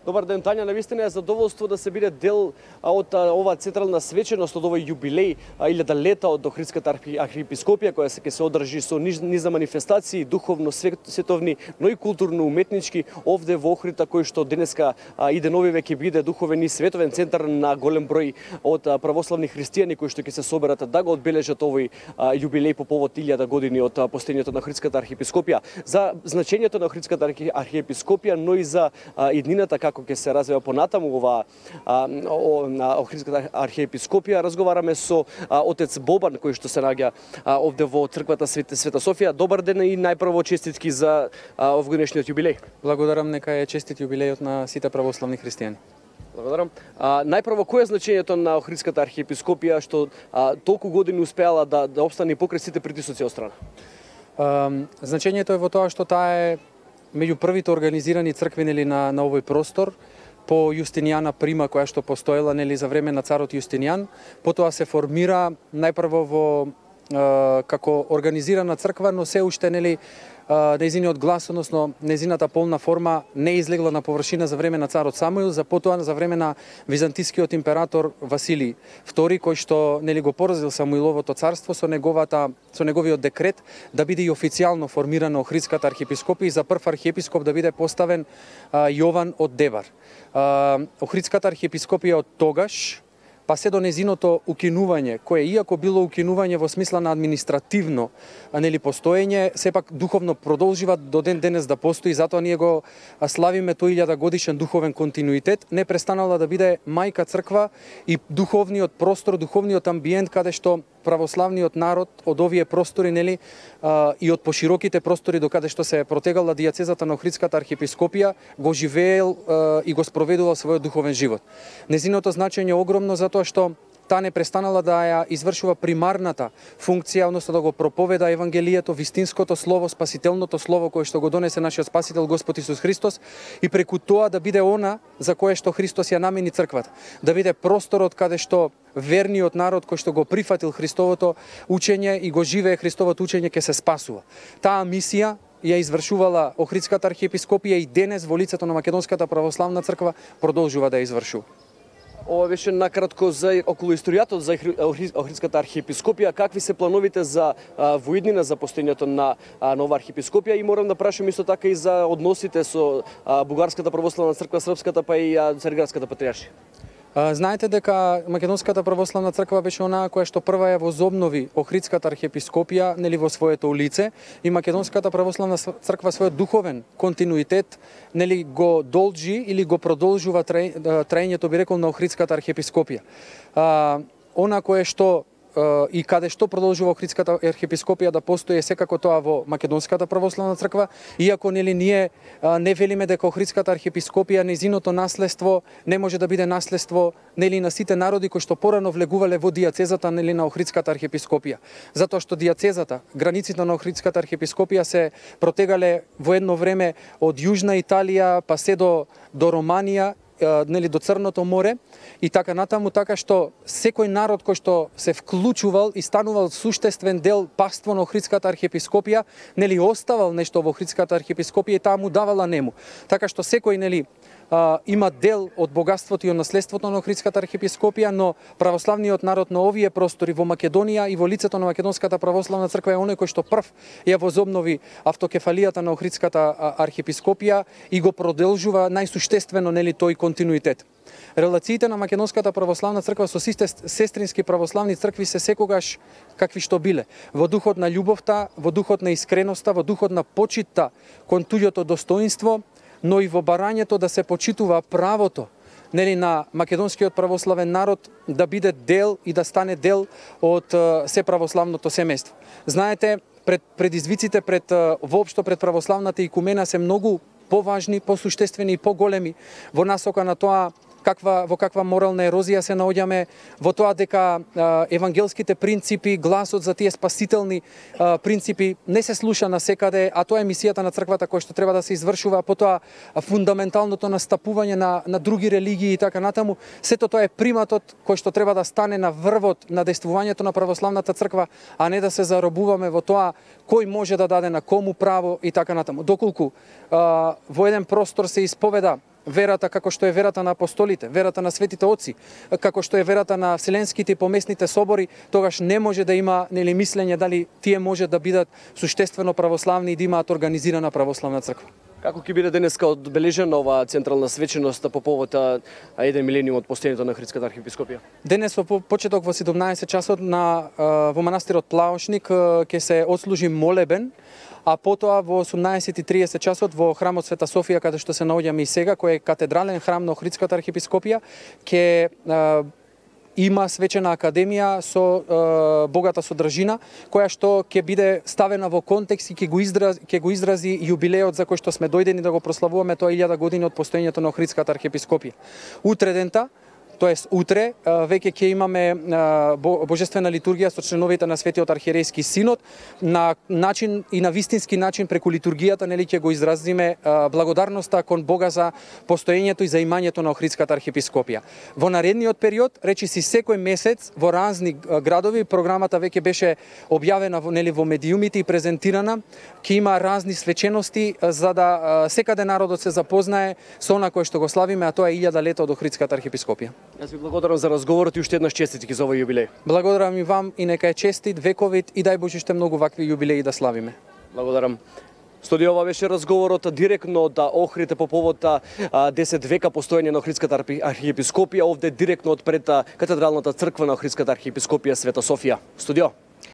Добар ден, Тања, навистина е задоволство да се биде дел од оваа централна свеченост, од овој јубилеј, 1000 лета од Охридската архиепископија, која ќе се одржи со низа манифестации, духовно, световни, но и културно-уметнички, овде во Охрида, кој што денеска и деновиве ќе биде духовен и световен центар на голем број од православни христијани кои што ќе се соберат да го одбележат овој јубилеј по повод 1000 години од постоењето на Охридската архиепископија. За значењето на Охридската архиепископија, но и за иднината како ќе се развива понатаму ова на Охридската архиепископија, разговараме со отец Бобан кој што се наоѓа овде во црквата Света Софија. Добар ден и најпрво честитки за овогодишниот јубилеј. Благодарам, нека е честит јубилејот на сите православни христијани. Благодарам. Најпрво, кој е значењето на Охридската архиепископија што толку години успеала да опстане покрај сите притисоци од страна? Значењето е во тоа што таа е меѓу првите организирани цркви на овој простор по Јустинијана Прима, која што постоела за време на царот Јустинијан. Потоа се формира најпрво во како организирана црква, но се уште нејзиниот глас, односно нејзината полна форма не излегла на површина за време на царот Самуил, за потоа за време на византискиот император Василий II, кој што го поразил Самуиловото царство со неговиот декрет да биде и официјално формирана Охридската архиепископија и за прв архиепископ да биде поставен Јован од Дебар. Охридската архиепископија од тогаш па се до незиното укинување, кое иако било укинување во смисла на административно постоење, сепак духовно продолжива до ден денес да постои, затоа ние го славиме тој 1000 годишен духовен континуитет, не престанала да биде мајка црква и духовниот простор, духовниот амбиент каде што православниот народ од овие простори и од пошироките простори до каде што се протегала дијацезата на Охридската архиепископија го живеел и го спроведувал својот духовен живот. Незиното значење е огромно затоа што таа не престанала да ја извршува примарната функција, односно да го проповеда евангелието, вистинското слово, спасителното слово кое што го донесе нашиот Спасител Господ Исус Христос и преку тоа да биде она за кое што Христос ја намени црквата, да биде просторот каде што верниот народ кој што го прифатил Христовото учење и го живее Христовото учење ќе се спасува. Таа мисија ја извршувала Охридската архиепископија и денес во лицето на Македонската православна црква продолжува да ја извршува. Ова беше накратко за околу историјата за Охридската архиепископија. Какви се плановите за воиднина за постоењето на нова архиепископија и морам да прашам исто така и за односите со Бугарската православна црква, Српската па и Цариградската патријаршија. Знаете дека Македонската православна црква беше онаа која што прва ја возобнови Охридската архиепископија во своето лице и Македонската православна црква својот духовен континуитет го должи или го продолжува траењето би рекол на Охридската архиепископија. Она кое што и каде што продолжува Охридската архиепископија да постои секако тоа во Македонската православна црква, иако ние не велиме дека Охридската архиепископија незиното наследство не може да биде наследство на сите народи кои што порано влегувале во дијацезата на Охридската архиепископија, затоа што дијацезата, границите на Охридската архиепископија се протегале во едно време од Јужна Италија па се до Романија, до Црното море и така натаму, така што секој народ кој што се вклучувал и станувал суштествен дел паство на Охридската архиепископија, оставал нешто во Охридската архиепископија и таа му давала нему. Така што секој има дел од богатството и од наследството на Охридската архиепископија, но православниот народ на овие простори во Македонија и во лицето на Македонската православна црква е оној кој што прв ја возобнови автокефалијата на Охридската архиепископија и го продолжува најсуштествено тој континуитет. Релациите на Македонската православна црква со сите сестрински православни цркви се секогаш какви што биле. Во духот на љубовта, во духот на искреноста, во духот на почитта кон туѓото достоинство, но и во барањето да се почитува правото на македонскиот православен народ да биде дел и да стане дел од се православното семејство. Знаете, предизвиците воопшто пред православната икумена се многу поважни, посуштествени и поголеми во насока на тоа во каква морална ерозија се наоѓаме, во тоа дека евангелските принципи, гласот за тие спасителни принципи не се слуша насекаде, а тоа е мисијата на црквата која што треба да се извршува, потоа фундаменталното настапување на други религии и така натаму. Сето тоа е приматот кој што треба да стане на врвот на действувањето на православната црква, а не да се заробуваме во тоа кој може да даде на кому право и така натаму. Доколку во еден простор се исповеда верата како што е верата на апостолите, верата на светите отци, како што е верата на вселенските и поместните собори, тогаш не може да има мислење дали тие може да бидат суштествено православни и да имаат организирана православна црква. Како ќе биде денеска одбележена оваа централна свеченост по повод 1 милениум од постоењето на Охридската архиепископија? Денес во почеток во 17 часот во манастирот Плаушник ќе се отслужи молебен, а потоа во 18:30 часот во храмот Света Софија, каде што се наоѓаме и сега, кој е катедрален храм на Охридската архиепископија, ќе има свечена академија со богата содржина, која што ќе биде ставена во контекст и ќе го изрази јубилеот за кој што сме дојдени да го прославуваме тоа 1000 години од постоењето на Охридската архиепископија. Утре дента, тоест утре, веќе ќе имаме божествена литургија со членовите на Светиот архиерейски синод, на начин и на вистински начин преку литургијата ќе го изразиме благодарноста кон Бога за постоењето и за имањето на Охридската архиепископија. Во наредниот период, речиси секој месец во разни градови, програмата веќе беше објавена во медиумите и презентирана, ќе има разни свечености за да секаде народот се запознае со она кое што го славиме, а тоа е 1000 лета од Охридската архиепископија. Јас ви благодарам за разговорот и уште еднаш честитки за овој јубилеј. Благодарам и вам и нека е честит, вековит и дај Боже уште многу вакви јубилеи да славиме. Благодарам. Студио, ова беше разговорот директно од Охрид по повод 10 века постоење на Охридската архиепископија, овде директно од пред катедралната црква на Охридската архиепископија Света Софија. Студио.